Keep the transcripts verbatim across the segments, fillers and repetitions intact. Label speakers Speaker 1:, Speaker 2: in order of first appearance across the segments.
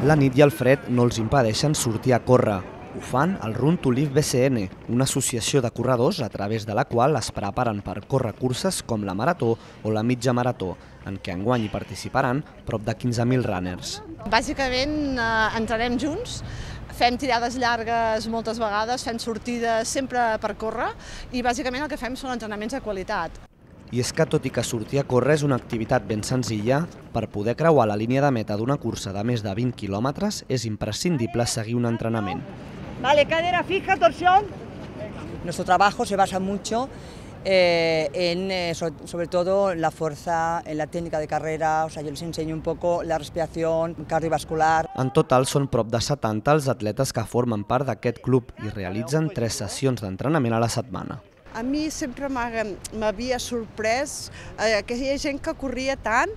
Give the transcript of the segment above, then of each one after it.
Speaker 1: La nit i el fred no els impedeixen sortir a córrer. Ho fan al Run to Live B C N, una associació de corredors a través de la qual es preparen per córrer curses com la marató o la mitja marató, en què enguany hi participaran prop de quinze mil runners.
Speaker 2: Bàsicament eh, entrarem junts, fem tirades llargues moltes vegades, fem sortides sempre per córrer i bàsicament el que fem són entrenaments de qualitat.
Speaker 1: I és que tot i que sortir a córrer és una activitat ben senzilla, per poder creuar la línia de meta d'una cursa de més de vint quilòmetres és imprescindible seguir un entrenament.
Speaker 3: Vale, cadera fija, torsión. Nuestro trabajo se basa mucho eh, en, eh, sobre, sobre todo, la fuerza, en la técnica de carrera. O sea, yo les enseño un poco la respiración cardiovascular.
Speaker 1: En total són prop de setanta els atletes que formen part d'aquest club i realitzen tres sessions d'entrenament a la setmana.
Speaker 4: A mi sempre m'havia sorprès eh, que hi ha gent que corria tant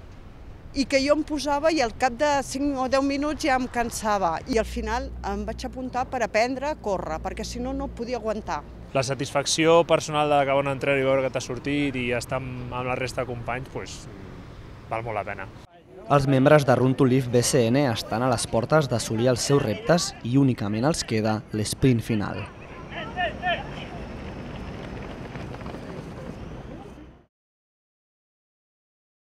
Speaker 4: i que jo em posava i al cap de cinc o deu minuts ja em cansava. I al final em vaig apuntar per aprendre a córrer, perquè si no, no podia aguantar.
Speaker 5: La satisfacció personal d'acabar un entrenament i veure que t'ha sortit i estar amb la resta de companys, doncs, val molt la pena.
Speaker 1: Els membres de Run to Live B C N estan a les portes d'assolir els seus reptes i únicament els queda l'esprint final.